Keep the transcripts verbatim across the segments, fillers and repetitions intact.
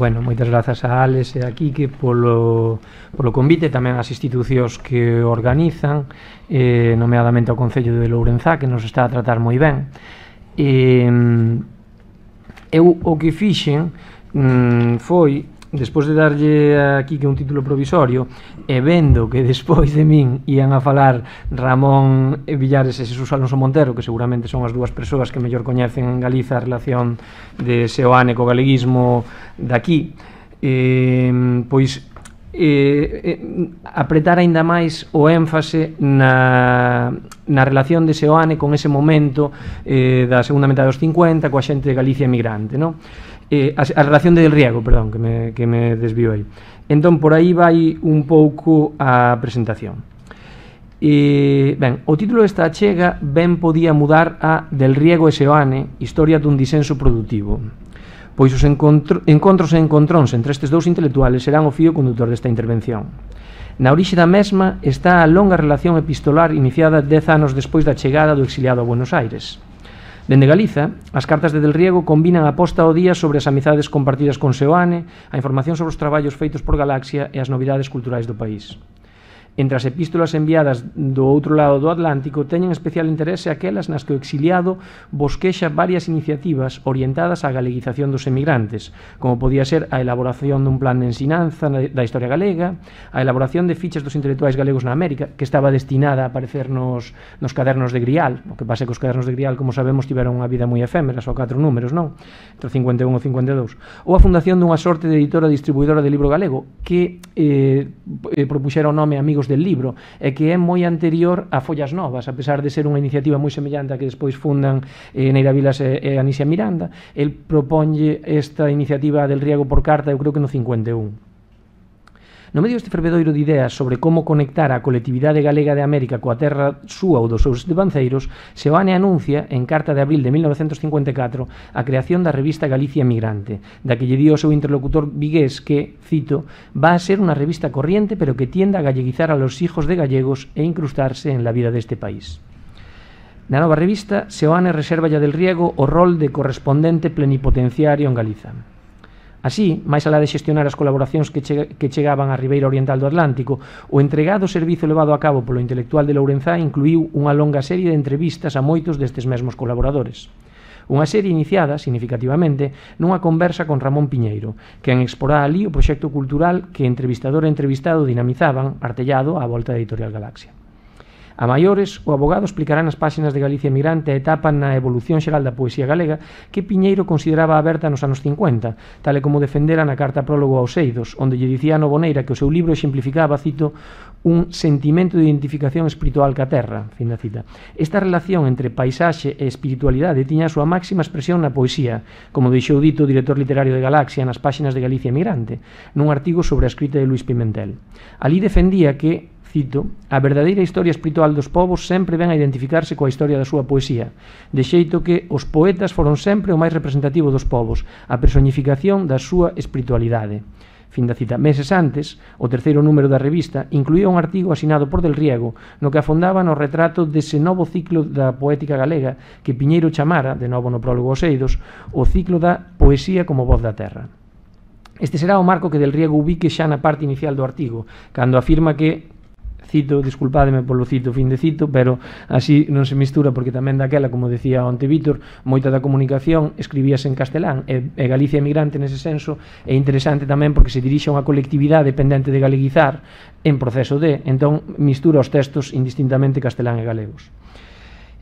bueno, moitas grazas a Alex e a Quique polo, polo convite, tamén as institucións que organizan, eh, nomeadamente ao Concello de Lourenzá, que nos está a tratar moi ben. Eh, eu o que fixen mm, foi, despois de darlle a Quique un título provisorio e vendo que despois de min ian a falar Ramón Villares e Xesús Alonso Montero, que seguramente son as dúas persoas que mellor coñecen en Galiza a relación de Seoane co galeguismo daqui, eh, pois eh, eh, apretar aínda máis o énfase na, na relación de Seoane con ese momento eh, da segunda metade dos cincuenta coa xente de Galicia emigrante, non? Eh, a, a relación de Del Riego, perdón, que me, que me desvío aí. Entón, por aí vai un pouco a presentación. E, ben, o título desta achega ben podía mudar a Del Riego e Seoane, historia dun disenso produtivo, pois os encontro, encontros e encontróns entre estes dous intelectuales serán o fío conductor desta intervención. Na orixe da mesma está a longa relación epistolar iniciada dez anos despois da chegada do exiliado a Buenos Aires. Dende Galiza, as cartas de Del Riego combinan a posta ao día sobre as amizades compartidas con Seoane, a información sobre os traballos feitos por Galaxia e as novidades culturais do país. Entre as epístolas enviadas do outro lado do Atlántico teñen especial interese aquelas nas que o exiliado bosquexa varias iniciativas orientadas á galeguización dos emigrantes, como podía ser a elaboración dun plan de ensinanza da historia galega, a elaboración de fichas dos intelectuais galegos na América, que estaba destinada a aparecer nos, nos cadernos de Grial. O que pasa é que os cadernos de Grial, como sabemos, tiveron unha vida moi efémera, só catro números, non? Entre cincuenta e un e cincuenta e dous. Ou a fundación dunha sorte de editora distribuidora de libro galego, que eh, propuxera o nome Amigos del Libro, e que é moi anterior a Follas Novas, a pesar de ser unha iniciativa moi semellante a que despois fundan eh, Neira Vilas e, e Anisia Miranda. El proponlle esta iniciativa Del Riego por carta, eu creo que no cincuenta e un. No medio deste fervedoiro de ideas sobre como conectar a colectividade galega de América coa terra súa ou dos seus devanceiros, Seoane anuncia, en carta de abril de mil novecentos cincuenta e catro, a creación da revista Galicia Emigrante, da que lle dio o seu interlocutor vigués que, cito, va a ser unha revista corriente pero que tienda a galleguizar a los hijos de gallegos e incrustarse en la vida deste país. Na nova revista, Seoane reserva a Del Riego o rol de correspondente plenipotenciario en Galiza. Así, máis alá de xestionar as colaboracións que, che, que chegaban á ribeira oriental do Atlántico, o entregado servizo levado a cabo polo intelectual de Lourenzá incluíu unha longa serie de entrevistas a moitos destes mesmos colaboradores. Unha serie iniciada, significativamente, nunha conversa con Ramón Piñeiro, quen exporá ali o proxecto cultural que entrevistador e entrevistado dinamizaban, artellado á volta da Editorial Galaxia. A maiores, o abogado explicará nas páxinas de Galicia Emigrante a etapa na evolución xeral da poesía galega que Piñeiro consideraba aberta nos anos cincuenta, tal e como defendera na carta prólogo aos Eidos, onde lle dicía a Novoneira que o seu libro exemplificaba, cito, un sentimento de identificación espiritual ca terra, fin da cita. Esta relación entre paisaxe e espiritualidade tiña a súa máxima expresión na poesía, como deixou dito o director literario de Galaxia nas páxinas de Galicia Emigrante, nun artigo sobre a escrita de Luis Pimentel. Ali defendía que, cito, a verdadeira historia espiritual dos povos sempre ven a identificarse coa historia da súa poesía, de xeito que os poetas foron sempre o máis representativo dos povos, a personificación da súa espiritualidade. Fin da cita. Meses antes, o terceiro número da revista incluía un artigo asinado por Del Riego no que afondaba no retrato dese novo ciclo da poética galega que Piñeiro chamara, de novo no prólogo aos Eidos, o ciclo da poesía como voz da terra. Este será o marco que Del Riego ubique xa na parte inicial do artigo, cando afirma que, cito, disculpademe polo cito, fin de cito, pero así non se mistura porque tamén daquela, como decía onte Vítor, moita da comunicación escribíase en castelán e, e Galicia Emigrante nese senso é interesante tamén porque se dirixe a unha colectividade pendente de galeguizar en proceso de, entón mistura os textos indistintamente castelán e galegos.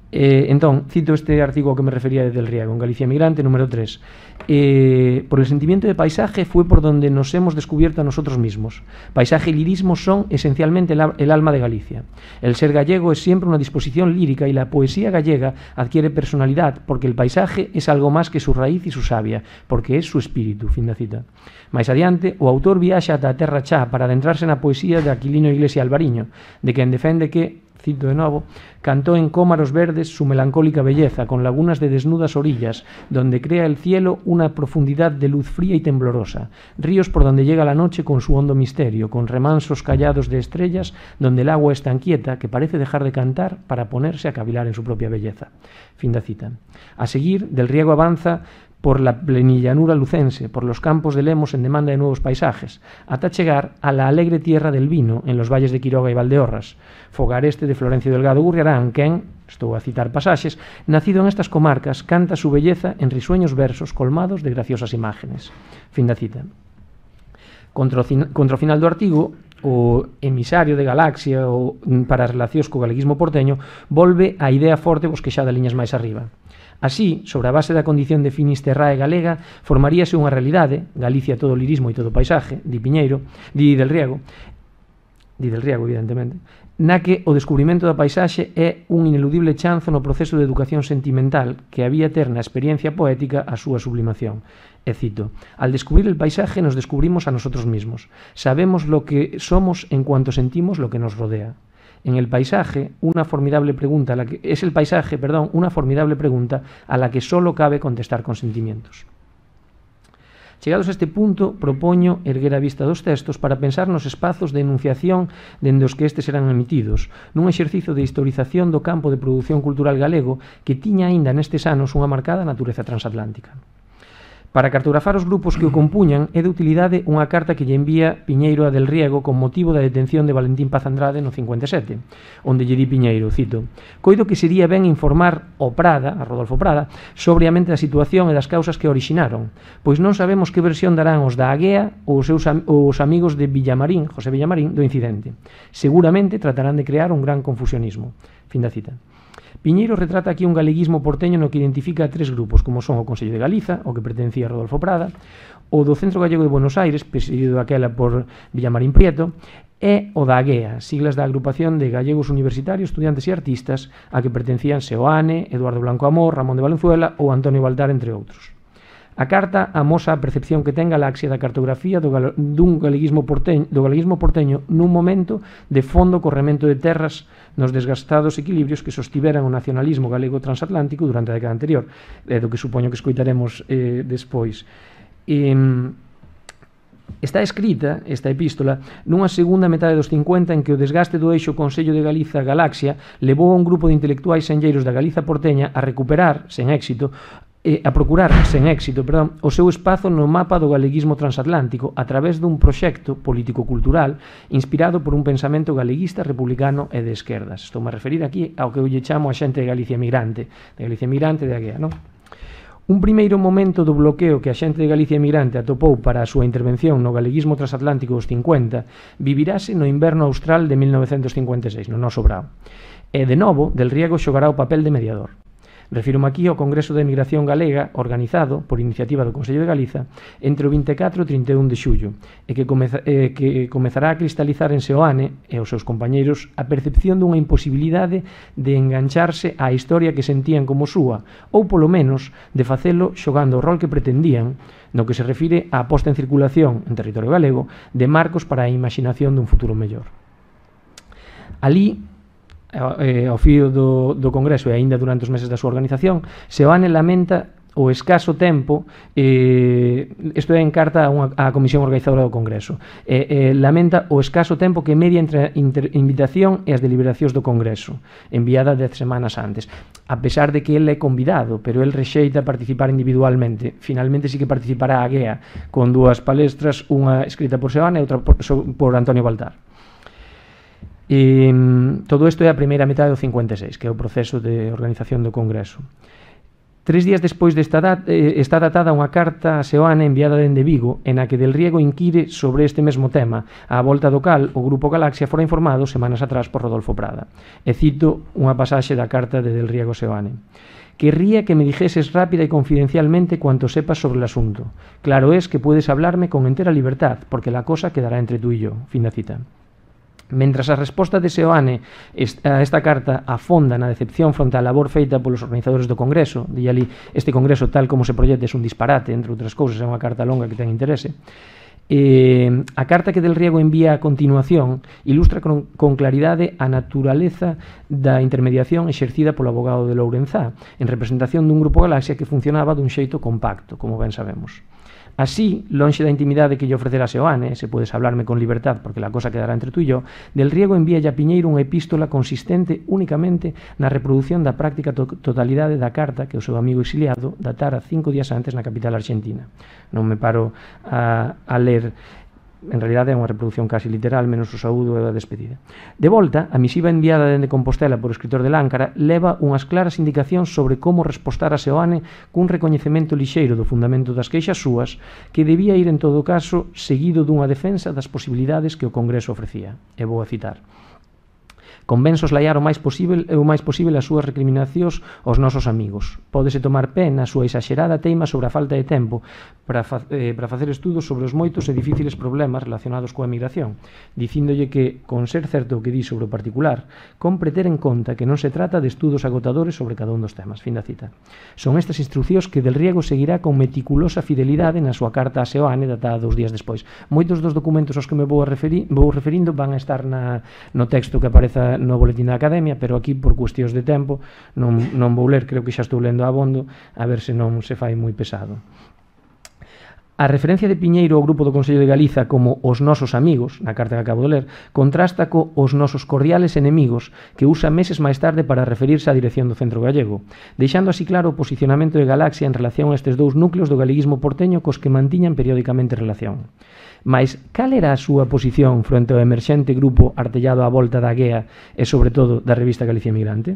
Eh, entón, cito este artigo ao que me refería de Del Riego, en Galicia Emigrante, número tres. Eh, por el sentimiento de paisaje fue por donde nos hemos descubierto a nosotros mismos. Paisaje y lirismo son esencialmente el, el alma de Galicia. El ser gallego es siempre una disposición lírica y la poesía gallega adquiere personalidad porque el paisaje es algo más que su raíz y su savia, porque es su espíritu, fin da cita. Mais adiante, o autor viaxa ata a terra chá para adentrarse na poesía de Aquilino Iglesia Alvariño, de quen defende que, cito de novo, cantó en cómaros verdes su melancólica belleza, con lagunas de desnudas orillas, donde crea el cielo una profundidad de luz fría y temblorosa, ríos por donde llega la noche con su hondo misterio, con remansos callados de estrellas, donde el agua es tan quieta que parece dejar de cantar para ponerse a cavilar en su propia belleza. Fin da cita. A seguir, Del Riego avanza por la plenillanura lucense, por los campos de Lemos en demanda de nuevos paisajes, hasta llegar a la alegre tierra del vino en los valles de Quiroga y Valdeorras, fogar este de Florencio Delgado Gurriarán, quen, estou a citar pasaxes, nacido en estas comarcas, canta su belleza en risueños versos colmados de graciosas imágenes. Fin da cita. Contra o, contra o final do artigo, o emisario de Galaxia o, para as relacións co galeguismo porteño volve a idea forte bosquexada liñas máis arriba. Así, sobre a base da condición de finisterrae galega, formaríase unha realidade, Galicia todo lirismo e todo paisaje, di Piñeiro, di Del Riego, di Del Riego, evidentemente, na que o descubrimento da paisaxe é un ineludible chanzo no proceso de educación sentimental que había ter na experiencia poética a súa sublimación. E cito, al descubrir el paisaje nos descubrimos a nosotros mismos. Sabemos lo que somos en cuanto sentimos lo que nos rodea. En el paisaje, una formidable pregunta, a la que, es el paisaje, perdón, una formidable pregunta a la que solo cabe contestar con sentimientos. Chegados a este punto, propoño erguer a vista dos textos para pensar nos espazos de enunciación dende os que estes eran emitidos, nun exercicio de historización do campo de produción cultural galego que tiña aínda nestes anos unha marcada natureza transatlántica. Para cartografar os grupos que o compuñan é de utilidade unha carta que lle envía Piñeiro a Del Riego con motivo da detención de Valentín Paz Andrade no cincuenta e sete, onde lle di Piñeiro, cito, coido que sería ben informar o Prada, a Rodolfo Prada, sobre a mente da situación e das causas que orixinaron, pois non sabemos que versión darán os da Aguea ou os seus os amigos de Villamarín, José Villamarín, do incidente. Seguramente tratarán de crear un gran confusionismo. Fin da cita. Piñeiro retrata aquí un galeguismo porteño no que identifica a tres grupos, como son o Consello de Galiza, o que pertencía a Rodolfo Prada, o do Centro Gallego de Buenos Aires, presidido aquela por Villamarín Prieto, e o da Aguea, siglas da Agrupación de Gallegos Universitarios, Estudiantes e Artistas, a que pertencían Seoane, Eduardo Blanco Amor, Ramón de Valenzuela ou Antonio Baltar, entre outros. A carta amosa a percepción que ten Galaxia da cartografía do gal dun galeguismo porteño, do galeguismo porteño nun momento de fondo corremento de terras nos desgastados equilibrios que sostiveran o nacionalismo galego transatlántico durante a década anterior, é do que supoño que escoitaremos eh, despois. E, está escrita, esta epístola, nunha segunda metade dos cincuenta en que o desgaste do eixo Consello de Galiza-Galaxia levou a un grupo de intelectuais senlleiros da Galiza porteña a recuperar, sen éxito, eh, a procurar, sen éxito, perdón, o seu espazo no mapa do galeguismo transatlántico a través dun proxecto político-cultural inspirado por un pensamento galeguista, republicano e de esquerdas. Estou a referir aquí ao que eu lle chamo a xente de Galicia Emigrante, de Galicia Emigrante de Aguea, non? Un primeiro momento do bloqueo que a xente de Galicia Emigrante atopou para a súa intervención no galeguismo transatlántico dos cincuenta vivirase no inverno austral de mil novecentos cincuenta e seis, no noso brao. E, de novo, Del Riego xogará o papel de mediador. Refírome aquí ao Congreso de Emigración Galega organizado por iniciativa do Consello de Galiza entre o vinte e catro e o trinta e un de xullo e que, comeza, eh, que comezará a cristalizar en Seoane e os seus compañeiros a percepción dunha imposibilidade de engancharse á historia que sentían como súa ou polo menos de facelo xogando o rol que pretendían no que se refire á posta en circulación en territorio galego de marcos para a imaginación dun futuro mellor. Ali, Eh, ao fío do, do Congreso e aínda durante os meses da súa organización, Seoane lamenta o escaso tempo, eh, isto é en carta a, unha, a Comisión Organizadora do Congreso, eh, eh, lamenta o escaso tempo que media entre a inter, invitación e as deliberacións do Congreso, enviada dez semanas antes, a pesar de que ele é convidado, pero el rexeita participar individualmente. Finalmente sí que participará a Aguea, con dúas palestras, unha escrita por Seoane e outra por, por Antonio Baltar. E todo isto é a primeira metade do cincuenta e seis, que é o proceso de organización do Congreso. Tres días despois desta data, eh, está datada unha carta a Seoane enviada dende Vigo, en a que Del Riego inquire sobre este mesmo tema, a volta do cal o Grupo Galaxia fora informado semanas atrás por Rodolfo Prada. E cito unha pasaxe da carta de Del Riego a Seoane. Querría que me dijeses rápida y confidencialmente cuanto sepas sobre el asunto. Claro es que puedes hablarme con entera libertad, porque la cosa quedará entre tú y yo. Fin da cita. Mentras a resposta de Seoane a esta carta afonda na decepción fronte á labor feita polos organizadores do Congreso, di ali, este Congreso tal como se proyecta é un disparate, entre outras cousas, é unha carta longa que ten interese. Eh, a carta que Del Riego envía a continuación ilustra con, con claridade a naturaleza da intermediación exercida polo abogado de Lourenzá en representación dun Grupo Galaxia que funcionaba dun xeito compacto, como ben sabemos. Así, lonxe da intimidade que lle ofrecera Seoane, se podes hablarme con libertad porque la cosa quedará entre tú e yo, Del Riego envía a Piñeiro unha epístola consistente únicamente na reproducción da práctica to totalidade da carta que o seu amigo exiliado datara cinco días antes na capital argentina. Non me paro a, a ler. En realidade é unha reproducción casi literal, menos o saúdo e a despedida. De volta, a misiva enviada dende Compostela por o escritor de Láncara leva unhas claras indicacións sobre como respostar a Seoane cun recoñecemento lixeiro do fundamento das queixas súas que debía ir en todo caso seguido dunha defensa das posibilidades que o Congreso ofrecía. E vou a citar. Convén soslayar o máis posible o máis posible as súas recriminacións aos nosos amigos. Pódese tomar pé na súa exagerada teima sobre a falta de tempo para, fa eh, para facer estudos sobre os moitos e difíciles problemas relacionados coa migración, dicíndolle que, con ser certo o que di sobre o particular, compre ter en conta que non se trata de estudos agotadores sobre cada un dos temas. Fin da cita. Son estas instruccións que Del Riego seguirá con meticulosa fidelidade na súa carta a Seoane datada dous días despois. Moitos dos documentos aos que me vou, a referi vou referindo van a estar na, no texto que apareza no boletín da Academia, pero aquí por cuestións de tempo non, non vou ler, creo que xa estou lendo abondo, a ver se non se fai moi pesado. A referencia de Piñeiro ao grupo do Consello de Galiza como os nosos amigos, na carta que acabo de ler, contrasta co os nosos cordiales enemigos que usa meses máis tarde para referirse á dirección do Centro Gallego, deixando así claro o posicionamento de Galaxia en relación a estes dous núcleos do galeguismo porteño cos que mantiñan periódicamente relación. Mais, cal era a súa posición fronte ao emerxente grupo artellado á volta da Guea e, sobre todo, da revista Galicia Emigrante?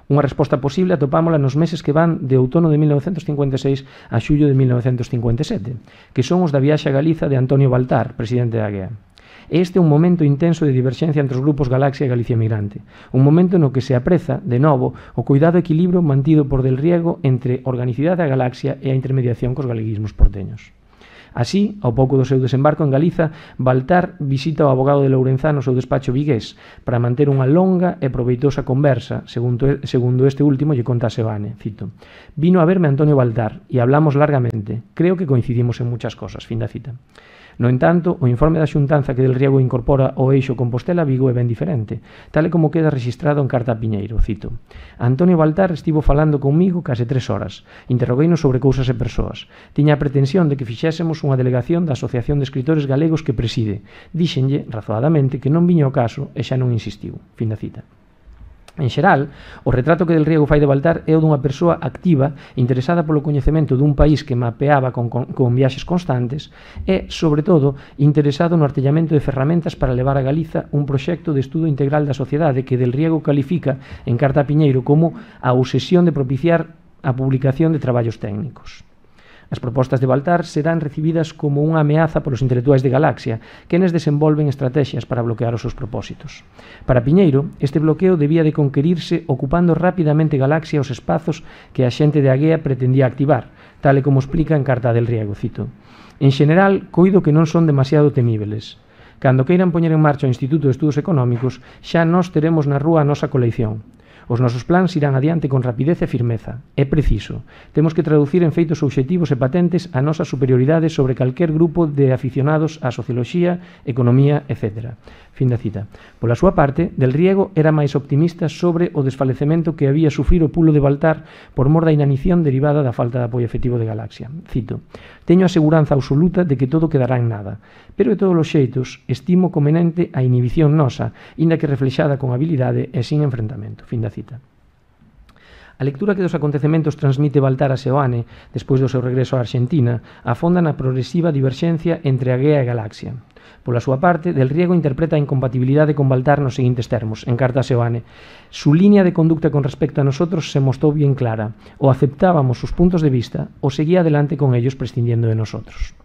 Unha resposta posible atopámola nos meses que van de outono de mil novecentos cincuenta e seis a xullo de mil novecentos cincuenta e sete, que son os da viaxe a Galiza de Antonio Baltar, presidente da Guea. Este é un momento intenso de diverxencia entre os grupos Galaxia e Galicia Emigrante, un momento no que se apreza, de novo, o cuidado e equilibrio mantido por Del Riego entre organicidade da Galaxia e a intermediación cos galeguismos porteños. Así, ao pouco do seu desembarco en Galiza, Baltar visita o abogado de Lourenzá no seu despacho vigués para manter unha longa e proveitosa conversa, segundo, segundo este último lle conta a Seoane, cito. Vino a verme Antonio Baltar e hablamos largamente. Creo que coincidimos en muchas cosas. Fin da cita. No entanto, o informe da xuntanza que Del Riego incorpora ao eixo Compostela-Vigo é ben diferente, tal e como queda registrado en carta a Piñeiro, cito. Antonio Baltar estivo falando comigo case tres horas, interrogueinos sobre cousas e persoas. Tiña a pretensión de que fixésemos unha delegación da Asociación de Escritores Galegos que preside. Díxenlle, razoadamente, que non viña ao caso e xa non insistiu. Fin da cita. En xeral, o retrato que Del Riego fai de Baltar é o dunha persoa activa, interesada polo coñecemento dun país que mapeaba con, con, con viaxes constantes e, sobre todo, interesado no artellamento de ferramentas para levar a Galiza un proxecto de estudo integral da sociedade que Del Riego califica en carta a Piñeiro como a obsesión de propiciar a publicación de traballos técnicos. As propostas de Baltar serán recibidas como unha ameaza polos intelectuais de Galaxia, quenes desenvolven estrategias para bloquear os seus propósitos. Para Piñeiro, este bloqueo debía de conquerirse ocupando rapidamente Galaxia os espazos que a xente de Aguea pretendía activar, tal e como explica en carta del Riego, cito. En xeneral, coido que non son demasiado temíveles. Cando queiran poñer en marcha o Instituto de Estudos Económicos, xa nós teremos na rúa a nosa colección. Os nosos plans irán adiante con rapidez e firmeza. É preciso. Temos que traducir en feitos obxectivos e patentes a nosa superioridade sobre calquer grupo de aficionados á socioloxía, economía, etcétera. Fin da cita. Pola súa parte, Del Riego era máis optimista sobre o desfalecemento que había sufrir o pulo de Baltar por mor da inanición derivada da falta de apoio efectivo de Galaxia. Cito. Teño a seguranza absoluta de que todo quedará en nada, pero de todos os xeitos estimo conveniente a inhibición nosa, inda que reflexada con habilidade e sin enfrentamento. Fin da cita. A lectura que dos acontecementos transmite Baltar a Seoane despois do seu regreso á Argentina afonda na progresiva diverxencia entre Aguea e Galaxia. Pola súa parte, Del Riego interpreta a incompatibilidade con Baltar nos seguintes termos, en carta a Seoane. Su línea de conducta con respecto a nosotros se mostrou bien clara. O aceptábamos sus puntos de vista o seguía adelante con ellos prescindiendo de nosotros.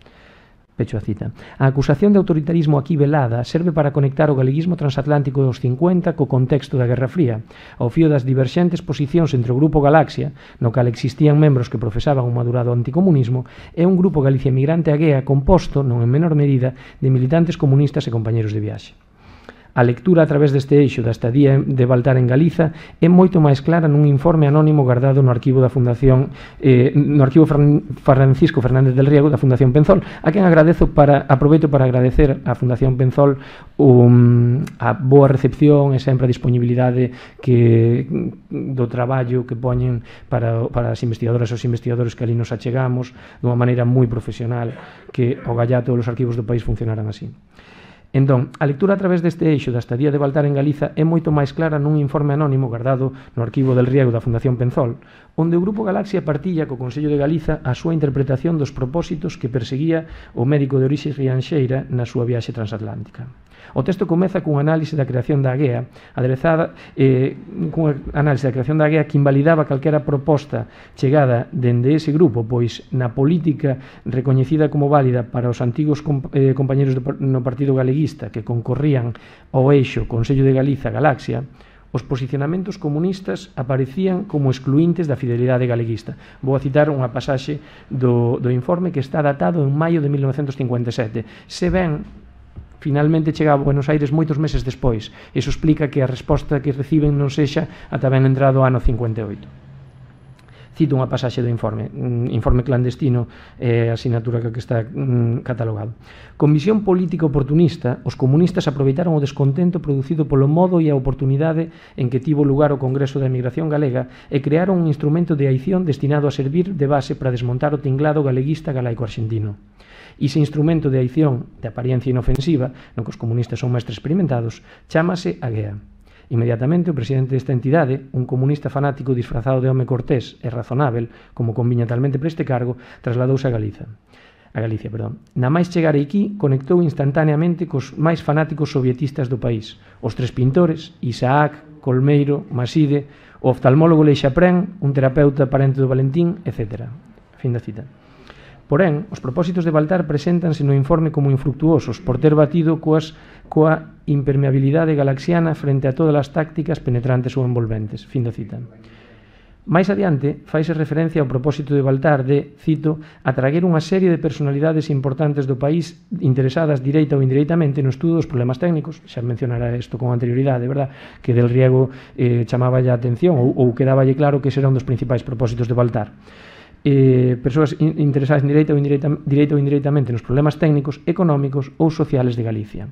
Pecho a cita. A acusación de autoritarismo aquí velada serve para conectar o galeguismo transatlántico dos cincuenta co contexto da Guerra Fría, ao fío das diverxentes posicións entre o Grupo Galaxia, no cal existían membros que profesaban un madurado anticomunismo, e un grupo Galicia Emigrante Aguea composto, non en menor medida, de militantes comunistas e compañeros de viaxe. A lectura a través deste eixo da estadía de Baltar en Galiza é moito máis clara nun informe anónimo guardado no arquivo da Fundación eh, no arquivo Francisco Fernández del Riego da Fundación Penzol, a quen agradezo para aproveito para agradecer á Fundación Penzol um, a boa recepción e sempre a disponibilidade que do traballo que poñen para, para as investigadoras e os investigadores que ali nos achegamos dunha maneira moi profesional, que o gallá todos os arquivos do país funcionaran así. Entón, a lectura a través deste eixo da estadía de Baltar en Galiza é moito máis clara nun informe anónimo guardado no arquivo del Riego da Fundación Penzol, onde o Grupo Galaxia partilla co Consello de Galiza a súa interpretación dos propósitos que perseguía o médico de orixe rianxeira na súa viaxe transatlántica. O texto comeza cun análise da creación da AGEA, aderezada eh, cun análise da creación da AGEA que invalidaba calquera proposta chegada dende ese grupo, pois na política recoñecida como válida para os antigos comp eh, compañeros do, no Partido Galeguista que concorrían ao eixo Consello de Galiza Galaxia, os posicionamentos comunistas aparecían como excluíntes da fidelidade galeguista. Vou a citar unha pasaxe do, do informe que está datado en maio de mil novecentos cincuenta e sete. Se ben finalmente chega a Buenos Aires moitos meses despois. Iso explica que a resposta que reciben non sexa ata ben entrado o ano cincuenta e oito. Cito unha pasaxe do informe, informe clandestino, é a asignatura que está catalogado. Con visión política oportunista, os comunistas aproveitaron o descontento producido polo modo e a oportunidade en que tivo lugar o Congreso da Emigración Galega e crearon un instrumento de aición destinado a servir de base para desmontar o tinglado galeguista galaico-arxentino. Ese instrumento de aición de apariencia inofensiva, no que os comunistas son máis experimentados, chámase AGEA. Inmediatamente o presidente desta entidade, un comunista fanático disfrazado de home cortés e razonável, como conviña talmente para este cargo, trasladouse a Galiza. A Galicia, perdón. Na máis chegar aquí, conectou instantaneamente cos máis fanáticos sovietistas do país. Os tres pintores, Isaac, Colmeiro, Maside, o oftalmólogo Leixaprén, un terapeuta parente do Valentín, etcétera. Fin da cita. Porén, os propósitos de Baltar preséntanse no informe como infructuosos por ter batido coas, coa impermeabilidade galaxiana frente a todas as tácticas penetrantes ou envolventes. Fin da cita. Mais adiante, faise referencia ao propósito de Baltar de, cito, atraguer unha serie de personalidades importantes do país interesadas direita ou indireitamente no estudo dos problemas técnicos. Xa mencionara isto con anterioridade, verdad? Que Del Riego eh, chamaba a atención ou, ou quedaballe claro que ese era un dos principais propósitos de Baltar. Eh, persoas in interesadas direita ou, indireita, direita ou indireitamente nos problemas técnicos, económicos ou sociales de Galicia.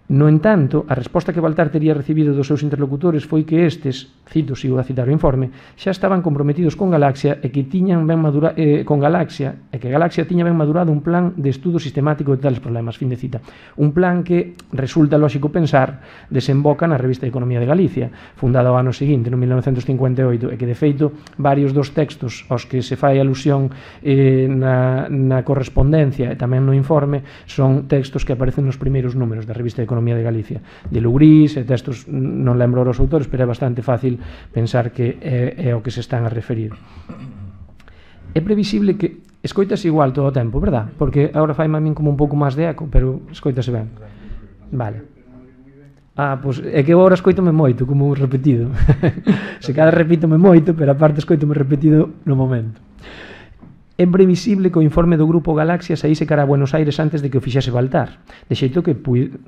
No entanto, a resposta que Baltar tería recibido dos seus interlocutores foi que estes, cito, sigo a citar o informe, xa estaban comprometidos con Galaxia e que tiñan ben madura, eh, con Galaxia e que Galaxia tiña ben madurado un plan de estudo sistemático de tales problemas, fin de cita. Un plan que, resulta lógico pensar, desemboca na Revista de Economía de Galicia, fundada ao ano seguinte, no mil novecentos cincuenta e oito, e que, de feito, varios dos textos aos que se fai alusión eh, na, na correspondencia e tamén no informe son textos que aparecen nos primeiros números da Revista de Economía de Galicia, de Lugrís e textos, non lembro os autores, pero é bastante fácil pensar que é, é o que se están a referir. É previsible que escoitas igual todo o tempo, verdad? Porque agora faime a min como un pouco máis de eco, pero escoitase ben. Vale. Ah, pois é que agora escoitome moito, como repetido. Se cada repítome moito, pero aparte escoitome repetido no momento. É previsible que o informe do Grupo Galaxia saíse cara a Buenos Aires antes de que o fixese Baltar, de xeito que,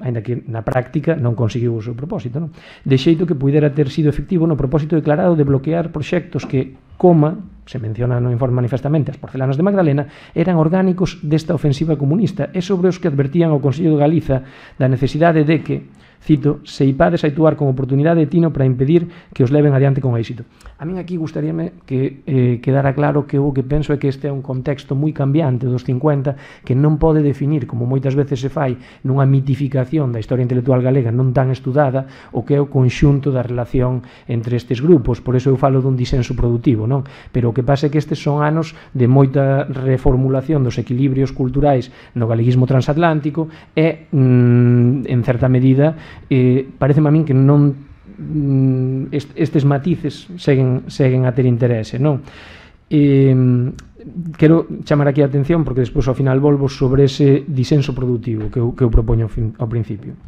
aínda que na práctica non conseguiu o seu propósito, non? De xeito que puidera ter sido efectivo no propósito declarado de bloquear proxectos que, coma, se menciona no informe manifestamente, as porcelanas de Magdalena, eran orgánicos desta ofensiva comunista e sobre os que advertían ao Consello de Galiza da necesidade de que, cito, se ipades a actuar con oportunidade de tino para impedir que os leven adiante con éxito. A min aquí gustaríame que eh, quedara claro que o que penso é que este é un contexto moi cambiante dos cincuenta que non pode definir, como moitas veces se fai, nunha mitificación da historia intelectual galega non tan estudada, o que é o conxunto da relación entre estes grupos. Por eso eu falo dun disenso productivo, non? Pero o que pasa é que estes son anos de moita reformulación dos equilibrios culturais no galeguismo transatlántico e, mm, en certa medida, eh, pareceme a min que non est, estes matices seguen, seguen a ter interese, non? Eh, quero chamar aquí a atención porque despois ao final volvo sobre ese disenso productivo que eu, que eu propoño ao principio.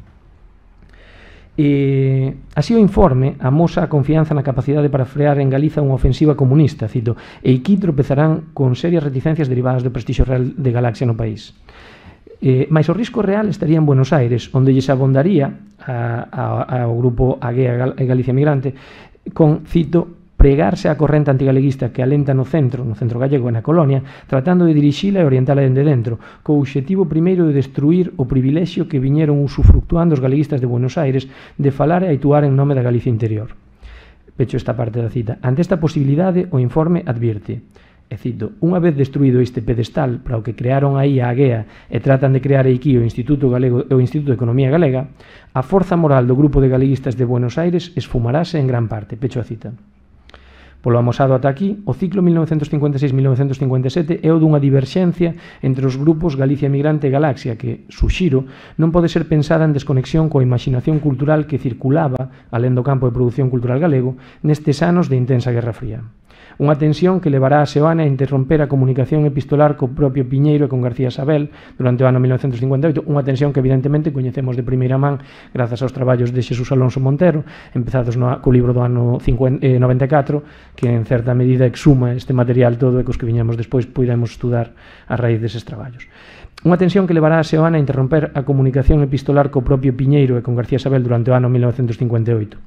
E, así o informe amosa a confianza na capacidade para frear en Galiza unha ofensiva comunista, cito, e aquí tropezarán con serias reticencias derivadas do prestixio real de Galaxia no país. Eh, mais o risco real estaría en Buenos Aires, onde lles abondaría a, a, ao grupo Aguea e Galicia Migrante con, cito, pregarse a corrente antigaleguista que alenta no centro, no centro gallego e na colonia, tratando de dirixila e orientala dende dentro, co obxectivo primeiro de destruir o privilexio que viñeron usufructuando os galeguistas de Buenos Aires de falar e actuar en nome da Galicia interior. Pecho esta parte da cita. Ante esta posibilidade, o informe advirte, e cito, unha vez destruído este pedestal para o que crearon aí a Aguea e tratan de crear aquí o Instituto Galego e o Instituto de Economía Galega, a forza moral do grupo de galeguistas de Buenos Aires esfumarase en gran parte. Pecho a cita. Polo amosado ata aquí, o ciclo mil novecentos cincuenta e seis a mil novecentos cincuenta e sete é o dunha diverxencia entre os grupos Galicia Migrante e Galaxia que, suxiro, non pode ser pensada en desconexión coa imaginación cultural que circulaba, alén do campo de produción cultural galego, nestes anos de intensa Guerra Fría. Unha tensión que levará a Seoane a interromper a comunicación epistolar co propio Piñeiro e con García Sabel durante o ano mil novecentos cincuenta e oito, unha tensión que evidentemente coñecemos de primeira man grazas aos traballos de Xesús Alonso Montero, empezados no, co libro do ano noventa e catro, que en certa medida exuma este material todo e cos que viñamos despois poidemos estudar a raíz deses traballos. Unha tensión que levará a Seoane a interromper a comunicación epistolar co propio Piñeiro e con García Sabel durante o ano mil novecentos cincuenta e oito.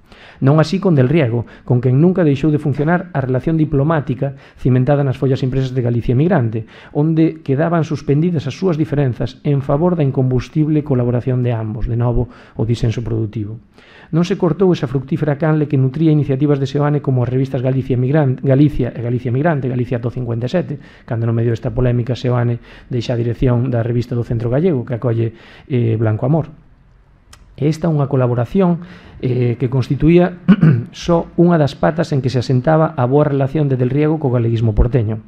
Non así con Del Riego, con quen nunca deixou de funcionar a relación diplomática cimentada nas follas impresas de Galicia Migrante, onde quedaban suspendidas as súas diferenzas en favor da incombustible colaboración de ambos, de novo o disenso produtivo. Non se cortou esa fructífera canle que nutría iniciativas de Seoane como as revistas Galicia, Migrante, Galicia e Galicia Migrante, Galicia ato cincuenta e sete, cando no medio desta polémica Seoane deixa a dirección da revista do Centro Gallego que acolle eh, Blanco Amor. E esta é unha colaboración eh, que constituía só unha das patas en que se asentaba a boa relación de Del Riego co galeguismo porteño.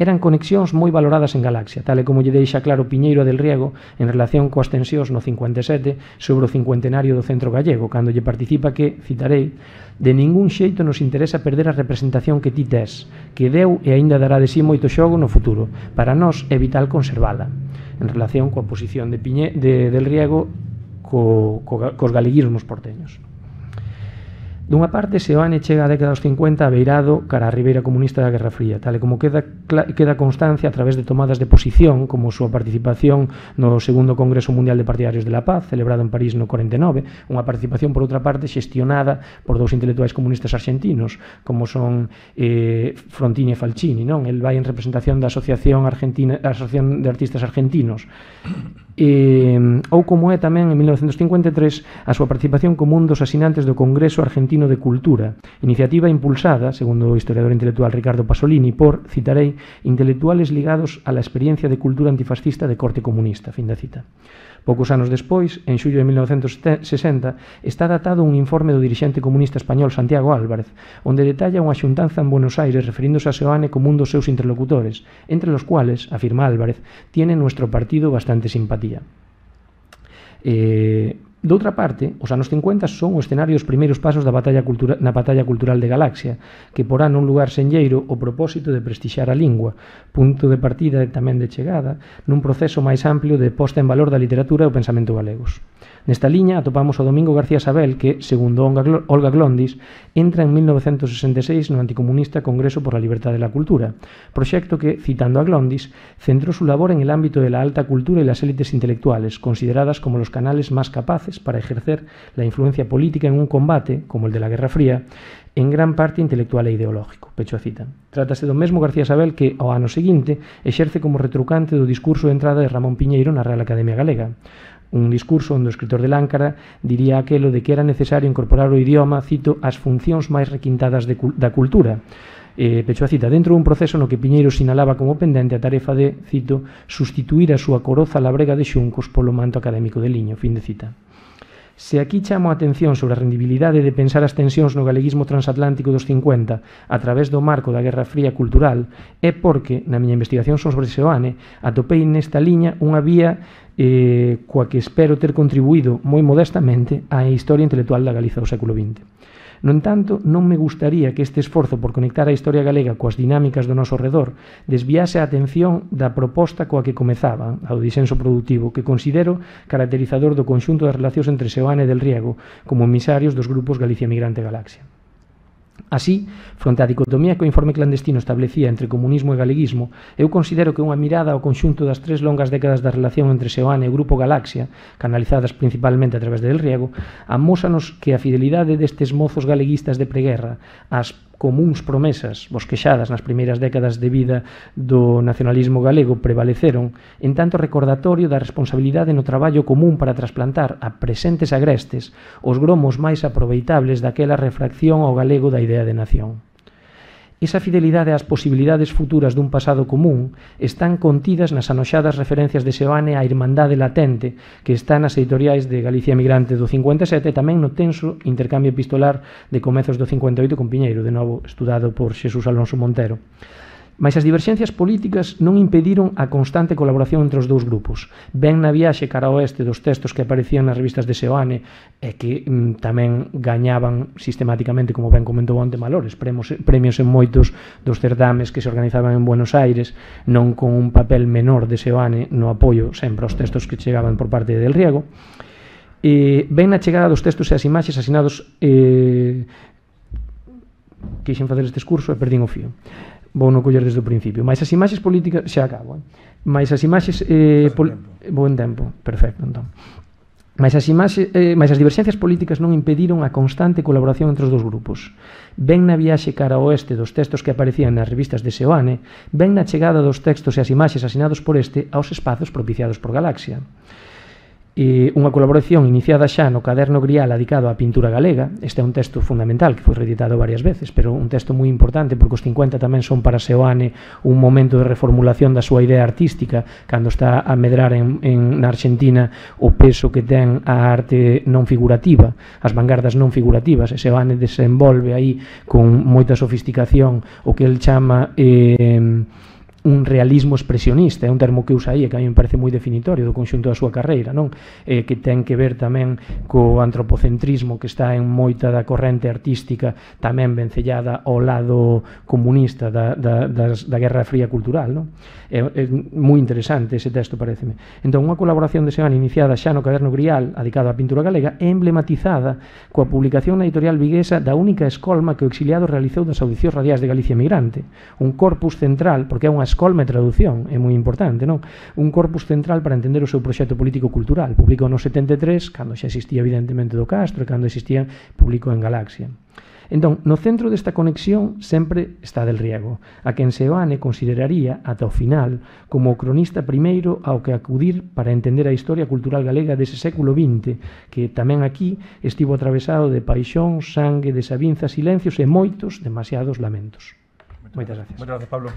Eran conexións moi valoradas en Galaxia, tal e como lle deixa claro Piñeiro a Del Riego en relación coas tensións no cincuenta e sete sobre o cincuentenario do Centro Gallego, cando lle participa que, citarei, de ningún xeito nos interesa perder a representación que ti tes, que deu e aínda dará de si moito xogo no futuro. Para nós é vital conservala, en relación coa posición de, Piñe, de Del Riego co, co, cos galeguismos porteños. Dunha parte, Seoane chega a década dos cincuenta a beirado cara a ribeira comunista da Guerra Fría, tal e como queda, queda constancia a través de tomadas de posición, como a súa participación no segundo Congreso Mundial de Partidarios de la Paz, celebrado en París no corenta e nove, unha participación, por outra parte, xestionada por dous intelectuais comunistas argentinos, como son eh, Frontini e Falcini, non? El vai en representación da Asociación, Argentina, Asociación de Artistas Argentinos, e, ou como é tamén en mil novecentos cincuenta e tres a súa participación como un dos asinantes do Congreso Argentino de Cultura, iniciativa impulsada, segundo o historiador intelectual Ricardo Pasolini, por, citarei, intelectuales ligados a la experiencia de cultura antifascista de corte comunista, fin da cita. Poucos anos despois, en xullo de mil novecentos sesenta, está datado un informe do dirixente comunista español Santiago Álvarez, onde detalla unha xuntanza en Buenos Aires referíndose a Seoane como un dos seus interlocutores, entre los cuales, afirma Álvarez, tiene nuestro partido bastante simpatía. Eh... Doutra parte, os anos cincuenta son o escenario dos primeiros pasos da batalla cultura, na batalla cultural de Galaxia, que porá nun lugar senlleiro o propósito de prestixiar a lingua, punto de partida e tamén de chegada, nun proceso máis amplio de posta en valor da literatura e o pensamento galegos. Nesta liña atopamos o Domingo García Sabel que, segundo Olga Glondis, entra en mil novecentos sesenta e seis no anticomunista Congreso por la Libertad de la Cultura, proxecto que, citando a Glondis, centró su labor en el ámbito de la alta cultura y las élites intelectuales, consideradas como los canales más capaces para ejercer la influencia política en un combate, como el de la Guerra Fría, en gran parte intelectual e ideológico. Pecho a cita. Trátase do mesmo García Sabel que, ao ano seguinte, exerce como retrucante do discurso de entrada de Ramón Piñeiro na Real Academia Galega. Un discurso onde o escritor de Láncara diría aquelo de que era necesario incorporar o idioma, cito, as funcións máis requintadas de, da cultura. Eh, pecho a cita, dentro dun proceso no que Piñeiro sinalaba como pendente a tarefa de, cito, sustituir a súa coroza labrega de xuncos polo manto académico de liño, fin de cita. Se aquí chamo a atención sobre a rendibilidade de pensar as tensións no galeguismo transatlántico dos cincuenta a través do marco da Guerra Fría cultural, é porque, na miña investigación sobre Seoane, atopei nesta liña unha vía eh, coa que espero ter contribuído moi modestamente á historia intelectual da Galiza do século vinte. No entanto, non me gustaría que este esforzo por conectar a historia galega coas dinámicas do noso redor desviase a atención da proposta coa que comezaba, ao disenso productivo, que considero caracterizador do conxunto das relacións entre Seoane e Del Riego como emisarios dos grupos Galicia Migrante e Galaxia. Así, fronte á dicotomía que o informe clandestino establecía entre comunismo e galeguismo, eu considero que unha mirada ao conxunto das tres longas décadas da relación entre Seoane e o Grupo Galaxia, canalizadas principalmente a través de Del Riego, amósanos que a fidelidade destes mozos galeguistas de preguerra ás comuns promesas bosquexadas nas primeiras décadas de vida do nacionalismo galego prevaleceron, en tanto recordatorio da responsabilidade no traballo común para trasplantar a presentes agrestes os gromos máis aproveitables daquela refracción ao galego da idea de nación. Esa fidelidade ás posibilidades futuras dun pasado común están contidas nas anoxadas referencias de Seoane á irmandade latente que está nas editoriais de Galicia Emigrante do cincuenta e sete e tamén no tenso intercambio epistolar de comezos do cincuenta e oito con Piñeiro, de novo estudado por Xesús Alonso Montero. Mais as diverxencias políticas non impediron a constante colaboración entre os dous grupos. Ben na viaxe cara ao oeste dos textos que aparecían nas revistas de Seoane e que mm, tamén gañaban sistemáticamente, como ben comentou onte Malores, premios, premios en moitos dos certames que se organizaban en Buenos Aires, non con un papel menor de Seoane no apoio sempre aos textos que chegaban por parte de Del Riego. E ben na chegada dos textos e as imaxes asinados eh, quixen facer este discurso e perdín o fío. Vou non coller desde o principio. Mais as imaxes políticas... Xa acabo, eh? Mais as imaxes... Eh, pol... Bo en tempo. Perfecto, entón. Mais as, imaxes, eh, mais as diverxencias políticas non impediron a constante colaboración entre os dous grupos. Ben na viaxe cara ao oeste dos textos que aparecían nas revistas de Seoane, ben na chegada dos textos e as imaxes asinados por este aos espazos propiciados por Galaxia. E unha colaboración iniciada xa no Caderno Grial adicado á pintura galega. Este é un texto fundamental que foi reeditado varias veces, pero un texto moi importante porque os cincuenta tamén son para Seoane un momento de reformulación da súa idea artística cando está a medrar en, en, na Argentina o peso que ten a arte non figurativa, as vanguardas non figurativas, e Seoane desenvolve aí con moita sofisticación o que el chama... Eh, un realismo expresionista, é un termo que usa aí e que a mí me parece moi definitorio do conxunto da súa carreira, non? Eh, que ten que ver tamén co antropocentrismo que está en moita da corrente artística tamén vencellada ao lado comunista da, da, das, da Guerra Fría cultural, non? É, é moi interesante ese texto, pareceme. Entón, unha colaboración de Seoane iniciada xa no Caderno Grial adicado á pintura galega é emblematizada coa publicación na editorial viguesa da única escolma que o exiliado realizou das audicións radiais de Galicia Emigrante, un corpus central, porque é unha escolma e traducción, é moi importante, non? Un corpus central para entender o seu proxecto político-cultural. Publicou no setenta e tres, cando xa existía evidentemente do Castro, e cando existía, publicou en Galaxia. Entón, no centro desta conexión sempre está Del Riego, a quen Seoane consideraría, ata o final, como o cronista primeiro ao que acudir para entender a historia cultural galega dese século vinte, que tamén aquí estivo atravesado de paixón, sangue, desavinzas, silencios e moitos, demasiados lamentos. Moitas gracias. Moitas gracias, Pablo.